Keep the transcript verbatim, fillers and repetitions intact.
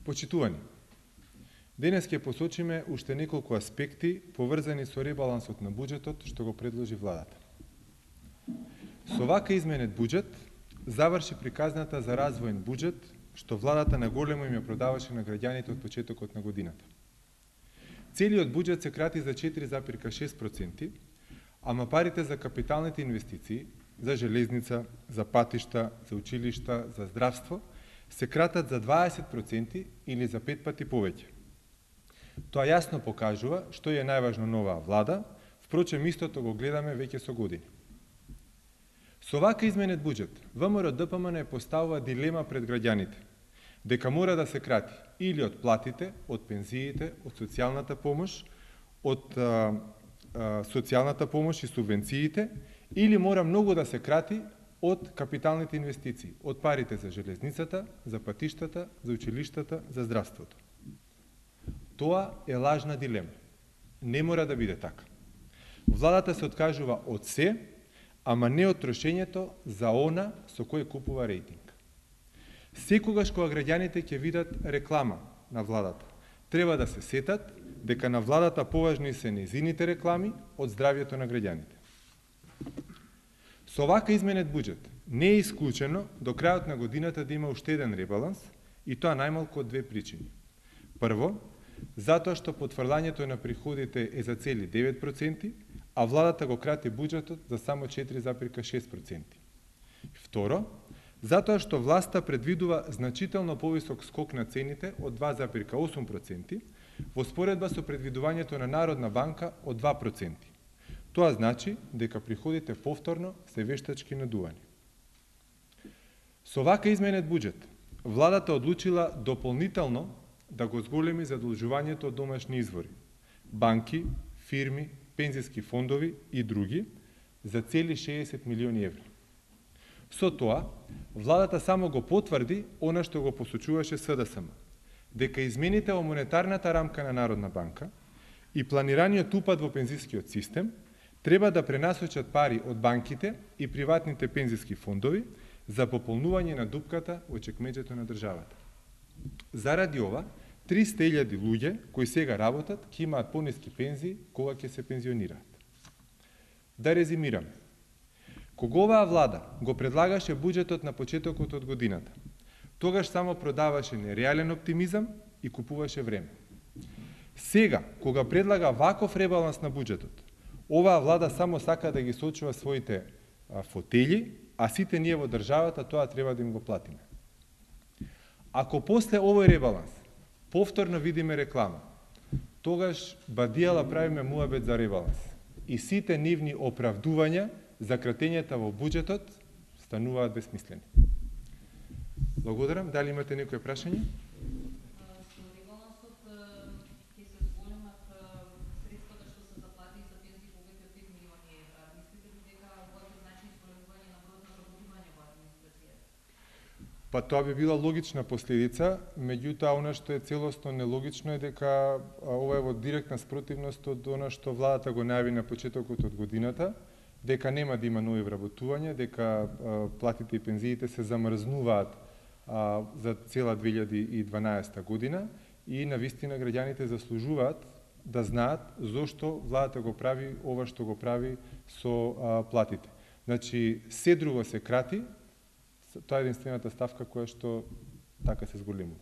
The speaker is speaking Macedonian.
Почитувани, денес ќе посочиме уште неколку аспекти поврзани со ребалансот на буџетот што го предложи владата. Со вака изменет буџет заврши приказната за развоен буџет што владата наголемо им ја продаваше на граѓаните од почетокот на годината. Целиот буџет се крати за четири запирка шест проценти, ама парите за капиталните инвестиции, за железница, за патишта, за училишта, за здравство, се кратат за дваесет проценти или за пет пати повеќе. Тоа јасно покажува што е најважно новаа влада, впрочем истото го гледаме веќе со години. Со вака изменет буџет, ВМРО-ДПМН е поставува дилема пред граѓаните, дека мора да се крати или од платите, од пензиите, од социјалната помош, од а, а, социјалната помош и субвенциите, или мора многу да се крати од капиталните инвестиции, од парите за железницата, за патиштата, за училиштата, за здравството. Тоа е лажна дилема. Не мора да биде така. Владата се откажува од се, ама не од трошењето за она со кој купува рейтинг. Секогаш кога граѓаните ќе видат реклама на владата, треба да се сетат дека на владата поважни се нејзините реклами од здравјето на граѓаните. Со вака изменет буџет не е исклучено до крајот на годината да има уште еден ребаланс, и тоа најмалку од две причини. Прво, затоа што потврлањето на приходите е за цели девет проценти, а владата го крати буџетот за само четири запирка шест проценти. Второ, затоа што власта предвидува значително повисок скок на цените од два запирка осум проценти, во споредба со предвидувањето на Народна банка од два проценти. Тоа значи дека приходите повторно се вештачки надувани. Со вака изменет буџет, владата одлучила дополнително да го зголеми задолжувањето од домашни извори, банки, фирми, пензиски фондови и други за цели шеесет милиони евра. Со тоа, владата само го потврди она што го посочуваше СДСМ, дека измените во монетарната рамка на Народна банка и планираниот упад во пензискиот систем треба да пренасочат пари од банките и приватните пензиски фондови за пополнување на дупката во чекмеџето на државата. Заради ова, триста илјади луѓе кои сега работат ќе имаат пониски пензии кога ќе се пензионираат. Да резимираме. Кога оваа влада го предлагаше буџетот на почетокот од годината, тогаш само продаваше нереален оптимизам и купуваше време. Сега, кога предлага ваков ребаланс на буџетот, оваа влада само сака да ги сочува своите а, фотели, а сите ние во државата тоа треба да им го платиме. Ако после овој ребаланс повторно видиме реклама, тогаш бадијала правиме муабет за ребаланс и сите нивни оправдувања за кратењата во буџетот стануваат бесмислени. Благодарам. Дали имате некои прашања? Па тоа би била логична последица, меѓутоа она што е целосно нелогично е дека ова е во директна спротивност од она што владата го најави на почетокот од годината, дека нема да има нови вработувања, дека а, платите и пензиите се замрзнуваат а, за цела две илјади и дванаесета година и навистина граѓаните заслужуваат да знаат зошто владата го прави ова што го прави со а, платите. Значи, се друго се крати, тоа е единствената ставка која што така се зголемува.